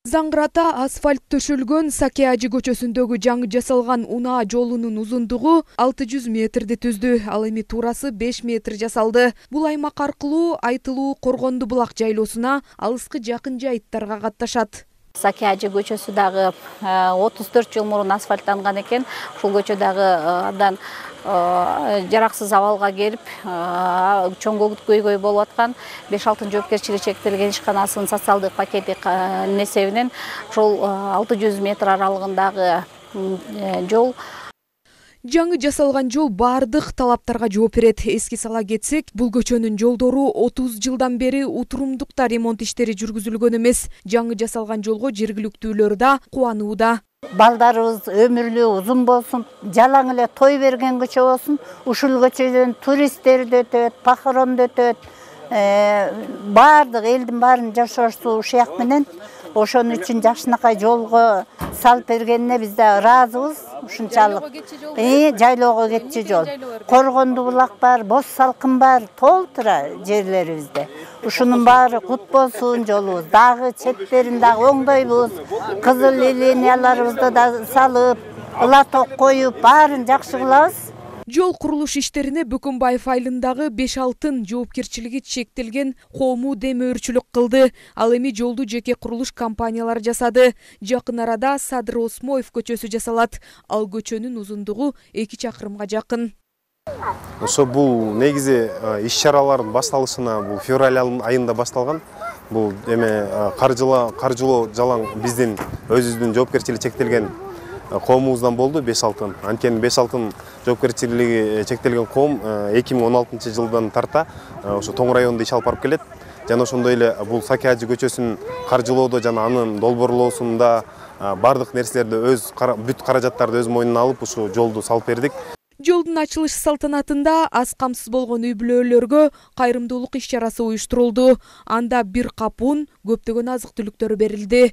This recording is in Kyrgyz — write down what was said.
Заңгырата асфальт төшөлгөн Саке Ажы көчөсүндөгү жаңы жасалган унаа жолунун узундугу 600 метрди түздү. Ал эми туурасы 5 метр жасалды. Бул аймак аркылуу Айтылуу Коргонду булак жайлоосуна алыскы жакын жайыттарга катташат. Саке Ажы көчөсү дагы 34 жыл мурун асфальттанган экен. Ушул көчө дагы абдан жараксыз абалга келип, чоң көйгөй болуп аткан. 5-6 жоопкерчилиги чектелген ишканасынын социалдык пакети эсебинен ушул 600 метр аралыгындагы жол. Жаңы жасалган жол бардык талаптарга жооп берет. Эске сала кетсек, бул көчөнүн жолдору 30 жылдан бери утурумдукта ремонт иштери жүргүзүлгөн эмес. Жаңы жасалган жолго жергиликтүүлөр да кубанууда. Балдарыбыз өмүрлүү узун болсун, жалаң эле той берген көчө болсун. Ушул көчөдөн туристтер да өтөт, похорон да өтөт. Бардык элдин баарынын жашоосу ушак менен. Ошон үчүн жакшынакай жолго салып бергенине биз да ыраазыбыз. Ушунчалык жайлоого кетчү жол. Коргонду булак бар, Боз салкын бар, толтура жерлерибизде. Ушунун баары кут болсун жолубуз. Дагы четтерин дагы оңдойбуз. Кызыл линияларыбызды да салып, латок коюп, баарын жакшы кылабыз. Жол курулуш иштерине Бөкөнбаев айылындагы 5-6 жоопкерчилиги чектелген коому демөөрчүлүк кылды. Ал эми жолду жеке курулуш компаниялары жасады. Жакын арада Садыр Осмоев көчөсү жасалат. Ал көчөнүн узундугу 2 чакырымга жакын. Ошо бул негизи иш-чаралардын башталышына бул февраль айында башталган. Бул каржылоо жалаң биздин өзүбүздүн жоопкерчилиги чектелген коомубуздан болду 5-6. Анткени 5-6 жоопкерчилиги чектелген коом 2016 жылдан тарта ошо Тоң районунда иш алып барып келет. Жана ошондой эле бул Саке Ажы көчөсүн каржылоодо жана анын долбоорлоосунда бардык нерселерди бүт каражаттарды өз мойнуна алып ушу жолду салып бердик. Жолдун ачылыш салтанатында аз камсыз болгон үй бүлөлөргө кайрымдуулук иш-чарасы уюштурулду. Анда 1 кап ун, көптөгөн азык-түлүктөр берилди.